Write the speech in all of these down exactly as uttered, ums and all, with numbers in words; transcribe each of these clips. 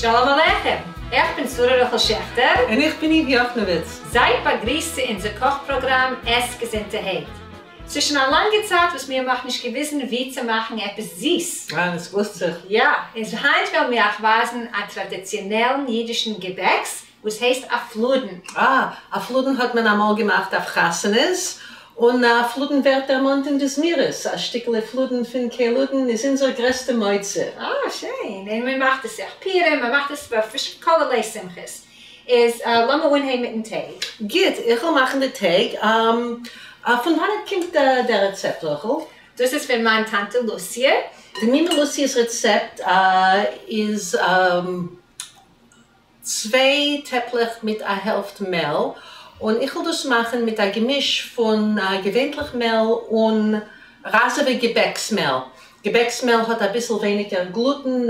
שלום עליכם! איך בין שרה רחל שעכטער. און איך בין איווי יאכנאוויץ. זייט באגריסט צו אונזער קאך פראגראם עס געזונטערהייט. ס'איז שוין א לאנגע צייט וואס מיר האבן נאכנישט געוויזן ווי צו מאכן עפעס זיס. אה, עס גלוסט זיך. יא, איז היינט וועלן מיר אייך ווייזן א טראדיציאנעלן אידישן געבעקס וואס הייסט א פלודן. אה, א פלודן האט מען אמאל געמאכט אויף חתונות, און א פלודן ווערט דערמאנט אין די זמירות, א שטיקעלע פלודן פון קעלודן איז אונזער גרעסטע מוצא. אה, שיין. און מען מאכט עס אויך פורים, מען מאכט עס פאר כלערליי שמחות. איז לאמיר אנהייבן מיטן טייג. גוט, איך וועל מאכן די טייג. פון וואנעט קומט דער רעצעפט, רחל? דאס איז פון מיין טאנטע לוסיע. די מומע לוסיע'ס רעצעפט איז צוויי טעפלעך מיט א העלפט מעל, און איך וועל דאס מאכן מיט א געמיש פון געווענטליך מעל און ראזעווע געבעקס מעל. געבעקס מעל האט אביסל ווייניגער גלוטן,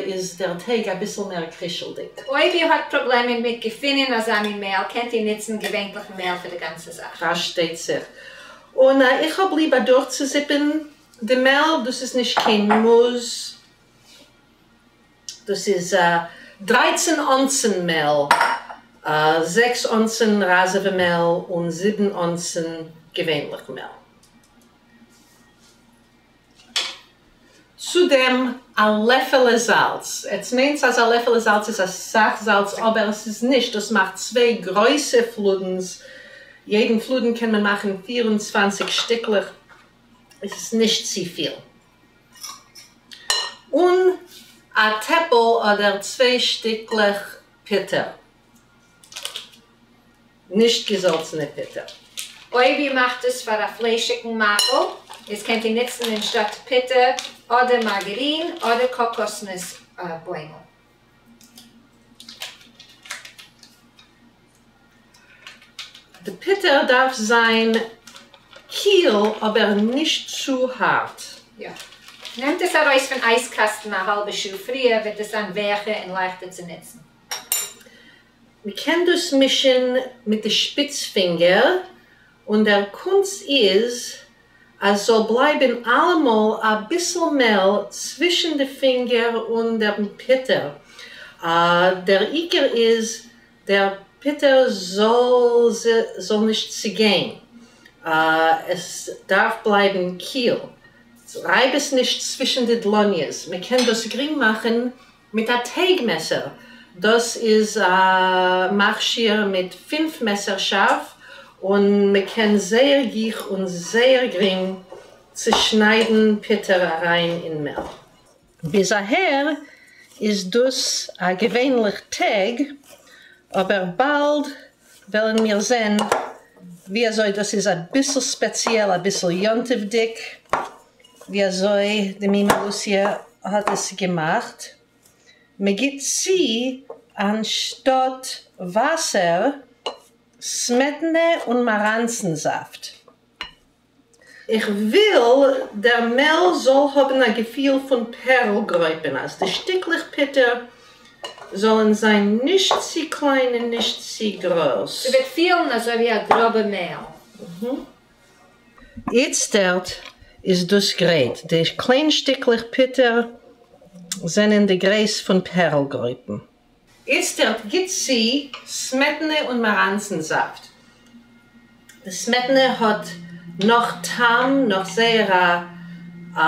איז דער טייג אביסל מער קרישלדיג. אויב איר האט פראבלעמען מיט געפינען אזא מין מעל, קענט איר נוצן געווענטליכן מעל פאר די גאנצע זאך. פארשטייט זיך. און איך האב ליב אדורכצוזיפן די מעל, דאס איז נישט קיין מוז. דאס איז דרײַצן אונסן מעל, זעקס אונסן ראזעווע מעל און זיבן אונסן געווענליך מעל. צו דעם א לעפעלע זאלץ. עטס מיינטס אז א לעפעלע זאלץ איז אסאך זאלץ, אבער עס איז נישט, דאס מאכט צוויי גרויסע פלודנס, יעדן פלודן קען מען מאכן פֿיר און צוואַנציק שטיקלעך, עס איז נישט צופיל. און א טעפל אדער צוויי שטיקלעך פוטער. נישט געזאלצענע פוטער. אויב איר מאכט עס פאר א פליישיגן מאכל, איז קענט איר נוצן אנשטאט פוטער אדער מארגארין אדער קאקאסנוס בוימל. די פוטער דארף זיין קיל אבער נישט צו הארט. יא. נעמט עס ארויס פון אייזקאסטן א האלבע שעה פריער וועט עס זיין ווייכער און לייכטער צו נוצן. מ'קען דאס מישן מיט די שפיץ פינגער, און דער קונץ איז אז זאל בלייבן אלעמאל אביסל מעל צווישן די פינגער און דעם פוטער. דער עיקר איז דער פוטער זאל זאל נישט צוגיין, עס דארף בלייבן קיל, רייב עס נישט צווישן די דלאניעס, מען קען דאס גרינג מאכן מיט א טייג מעסער, דאס איז א מכשיר מיט פֿינף מעסער שארף, און מען קען זייער גיך און זייער גרינג צושניידן פוטער אריין אין מעל. ביז אהער איז דאס א געווענליך טייג, אבער באלד וועלן מיר זען ווי אזוי דאס איז אביסל ספעציעל, אביסל יום-טוב'דיג, ווי אזוי די מומע לוסיע האט עס געמאכט. מען גיט צו אנשטאט וואסער סמעטענע און מאראנצן זאפט. איך וויל דער מעל זאל האבן א געפיל פון פערל גרויפן, אז די שטיקלעך פוטער זאלן זיין נישט צו קליין און נישט צו גרויס. ס'וועט פילן אזוי ווי א גראבע מעל. איצטערט איז דאס גרייט. די קליין שטיקלעך פוטער זענען די גרייס פון פערל גרויפן. איצטערט גיט צו סמעטענע און מאראנצן זאפט. די סמעטענע האט נאך טעם, נאך זייער א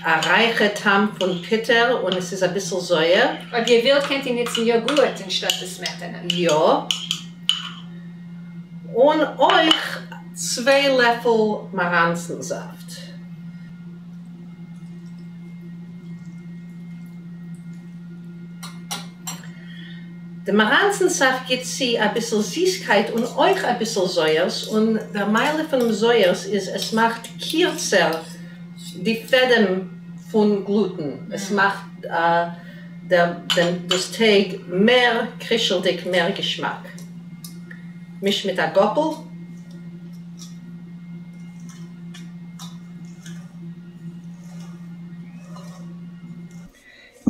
א רייכע טעם פון פוטער, און עס איז אביסל זויער. אויב איר ווילט קענט איר נוצן יאגורט אנשטאט די סמעטענע. יא. און אויך צוויי לעפל מאראנצן זאפט. די מאראנצן זאפט גיט צו אביסל זיסקייט און אויך אביסל זויערס, און דער מעלה פונעם זויערס איז עס מאכט קירצער די פעדעם פון גלוטן, עס מאכט דאס טייג מער קרישלדיג, מער געשמאק. מיש מיט א גאפל.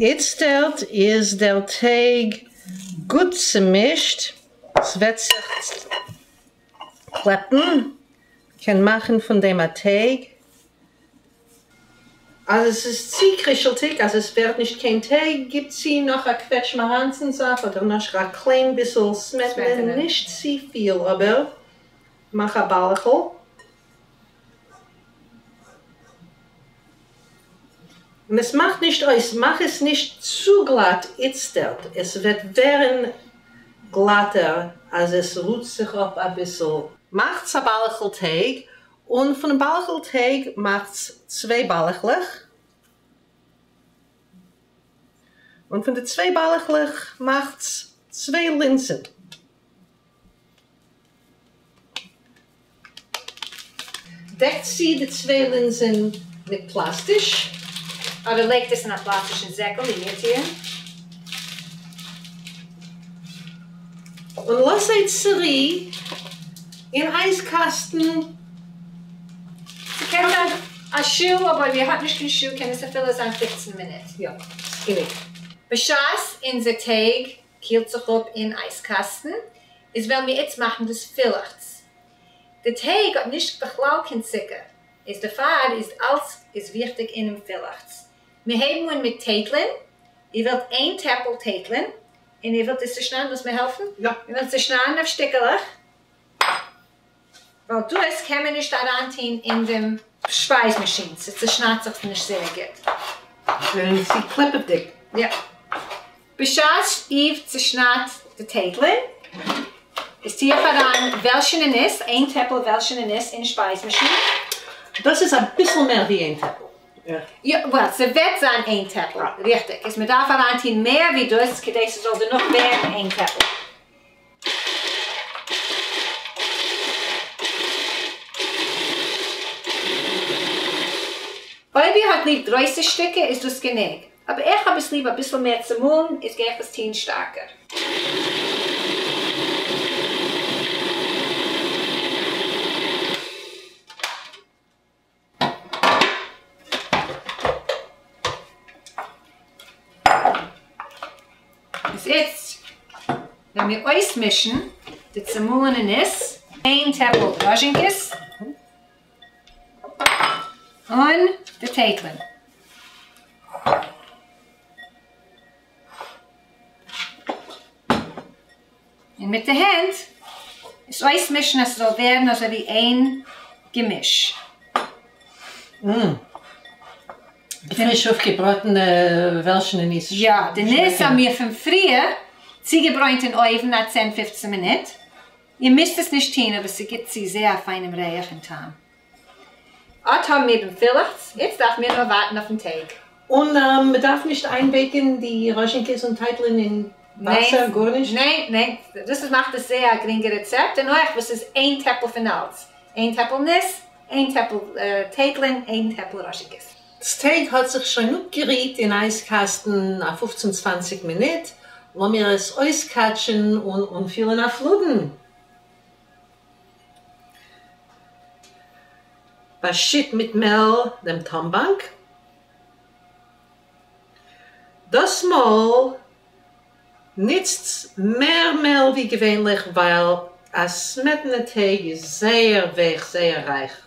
איצטערט איז דער טייג גוט צומישט, ס'וועט זיך קלעפן, קען מאכן פון דעם א טייג. אז עס איז צו קרישלדיג, אז עס ווערט נישט קיין טייג, גיבט צו נאך א קוועטש מאראנצןזאפט אדער נאך א קליין ביסל סמעטענע, נישט צו פיל, אבער מאך א באלעכל. און עס מאכט נישט אויס, מאך עס נישט צו גלאט איצטערט, עס וועט ווערן גלאטער אז עס רוט זיך אפ אביסל. מאכטס א באלעכל טייג, און פונעם באלעכל טייג מאכטס צוויי באלעכלעך, און פון די צוויי באלעכלעך מאכטס צוויי לינזן. דעקט צו די צוויי לינזן מיט פלאסטיש. אדער לייגט עס אין א פלאסטישן זעקל ווי מיר טוען. און לאז זיי צורו אין אייזקאסטן. ס'קען זיין א שעה, אבער אויב איר האט נישט קיין שעה קען עס אפילו זיין פֿופֿצן מינוט. יא, ס'גענוג. בשעת אונזער טייג קילט זיך אפ אין אייזקאסטן, איז וועלן מיר איצט מאכן דאס פילעכץ. די טייג האט נישט בכלל קיין צוקער, איז דערפאר איז אלץ איז וויכטיג אינעם פילעכץ. מיר הייבן אן מיט טייטלען, איר ווילט איין טעפל טייטלען, און איר ווילט עס צושניידן, ווילסט מיר העלפן? יא. איר ווילט צושניידן אויף שטיקעלעך, ווייל דאס קען מען נישט אריינטון אין דעם שפייז מאשין, ס'צושניידט זיך נישט זייער גוט. און ס'איז קלעפעדיג. יא. בשעת איר צושניידט די טייטלען, איז טו איך אריין וועלשענע ניס, איין טעפל וועלשענע ניס אין שפייז מאשין. דאס איז אביסל מער ווי איין טעפל. יא, well, ס'וועט זיין איין טעפל, ריכטיג. איז מען דארף אריינטון מער ווי דאס, כדי ס'זאל דערנאך ווערן איין טעפל. אויב איר האט ליב גרויסע שטיקער איז דאס גענוג, אבער איך האב עס ליב אביסל מער צומאלן, איז גיי איך עס טון שטארקער. איז איצט וועלן מיר אויסמישן די צומאלענע ניס, איין טעפל ראזשינקעס און די טייטלען. און מיט די הענט עס אויסמישן אז ס'זאל ווערן אזוי ווי איין געמיש. פריש אויפגעבראטענע וועלשענע ניס. יא, די ניס האבן מיר פון פריער צוגעברוינט אין אויוון א צען פופצן מינוט. איר מוזט עס נישט טון, אבער ס'גיט צו זייער א פיינעם ריח און טעם. אט האבן מיר דעם פילעכץ, איצט דארף מיר נאר ווארטן אויפן טייג. און מ'דארף נישט איינווייקן די ראזשינקעס און טייטלען אין וואסער, גארנישט? ניין, ניין, דאס איז מאכט עס זייער א גרינגע רעצעפט, און אויך וואס איז איין טעפל פון אלץ, איין טעפל ניס, איין טעפל טייטלען, איין טעפל ראזשינקעס. דאס טייג האט זיך שוין אפגערוהט אין אייזקאסטן א פופצן צוואנציג מינוט, לאמיר עס אויסקאטשען און אנפילן א פלודן. באשיט מיט מעל דעם טאמבאנק. דאס מאל ניצטס מער מעל ווי געווענליך ווייל א סמעטענע טייג איז זייער ווייך, זייער רייך.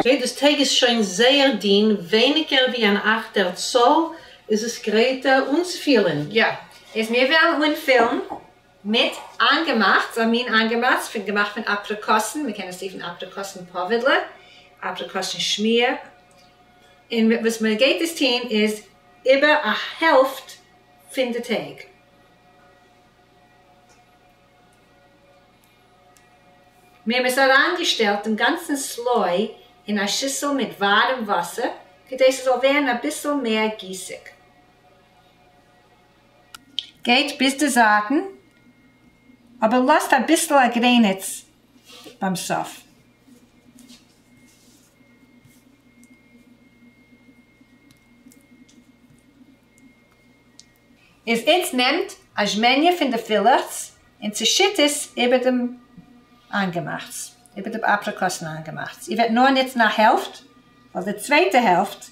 Okay, דאס טייג איז שוין זייער דין, ווייניגער ווי אן אכטער צאל, איז עס גרייט אנצופילן. יא, איז מיר וועלן אנפילן מיט איינגעמאכטס, א מין איינגעמאכטס פון געמאכט פון אפריקאסן, מען קען עס רופן אפריקאסן פאווידלע, אפריקאסן שמיר, און וואס מען גייט עס טון איז איבער א העלפט פון די טייג. מיר האבן עס אריינגעשטעלט דעם גאנצן סלוי אין א שיסל מיט ווארעם וואסער, כדי ס'זאל ווערן אביסל מער גיסיג. גייט ביז די זייטן, אבער לאזט אביסל א גרעניץ ביים סוף. איז איצט נעמט א זשמעניע פון די פילעכץ און צעשיט עס איבער דעם איינגעמאכטס, איבער דעם אפריקאסן איינגעמאכטס. איר וועט נאר נוצן א העלפט, ווייל די צווייטע העלפט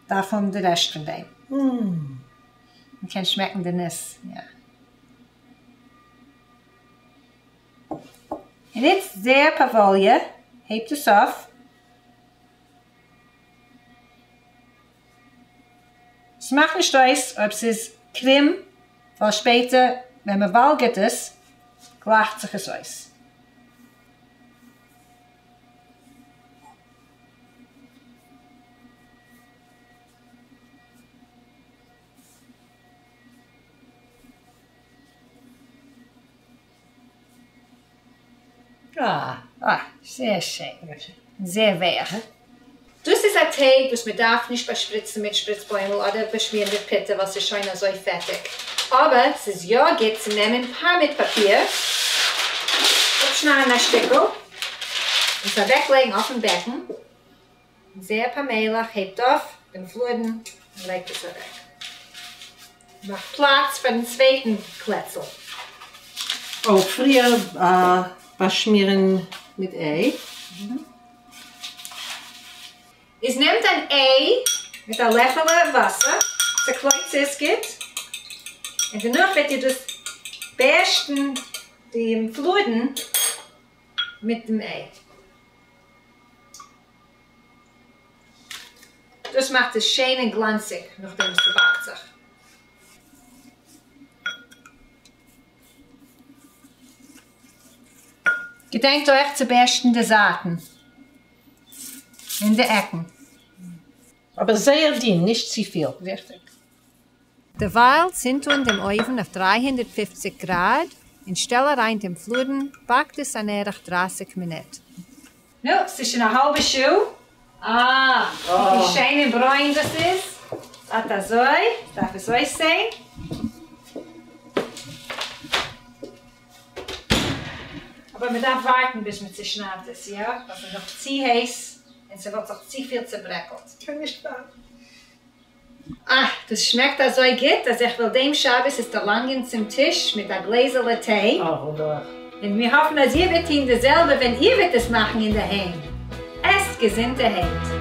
דארף האבן די רעשט פון דעם. מען קען שמעקן די ניס, יא. און איצט זייער פאוואליע, הייבט עס אויף. ס'מאכט נישט אויס אויב ס'איז קרום, ווייל שפעטער ווען מ'וואלגערט עס, גלייכט זיך עס אויס. אה, אה, זייער שיין. זייער ווייך. דאס איז א טייג וואס מען דארף נישט באשפריצן מיט שפריצבוימל אדער באשמירן מיט פוטער ווייל ס'איז שוין אזוי פעטיג. אבער ס'איז יא גוט צו נעמען פארמעט פאפיר, אפשניידן א שטיקל, און עס אוועקלייגן אויפן בעקן. זייער פאמעליך הייבט אויף דעם פלאדן און לייגט עס אוועק. מאכט פלאץ פאר דעם צווייטן קלעצל. Oh, פריער באשמירן מיט איי. איז נעמט אן איי מיט א לעפעלע וואסער, צעקלויבט עס גוט, און דערנאך וועט איר דאס בערשטן דעם פלאדן מיט דעם איי. דאס מאכט עס שיין און גלאנציג נאכדעם וואס ס'באקט זיך. געדענקט אויך צו בערשטן די זייטן און די עקן. אבער זייער דין, נישט צופיל. ריכטיג. דערווייל צינדט אן דעם אויוון אויף דרײַ הונדערט פֿופֿציק גראד און שטעל אריין דעם פלאדן, באקט עס אן ערך דרײַסיק מינוט. נו, ס'איז שוין א האלבע שעה. אה, ווי שיין און ברוין דאס איז. אט אזוי דארף עס אויסזען. אבער מען דארף ווארטן ביז מען צעשניידט עס, יא? ווייל ס'איז נאך צו הייס און ס'וואלט זיך צופיל צעברעקלט. קען נישט ווארטן. אה, דאס שמעקט אזוי גוט אז איך וועל דעם שבת עס דערלאנגען צום טיש מיט א גלעזעלע טיי. אה, וואונדערליך. און מיר האפן אז איר וועט טון די זעלבע ווען איר וועט עס מאכן אינדערהיים. עסט געזונטערהייט.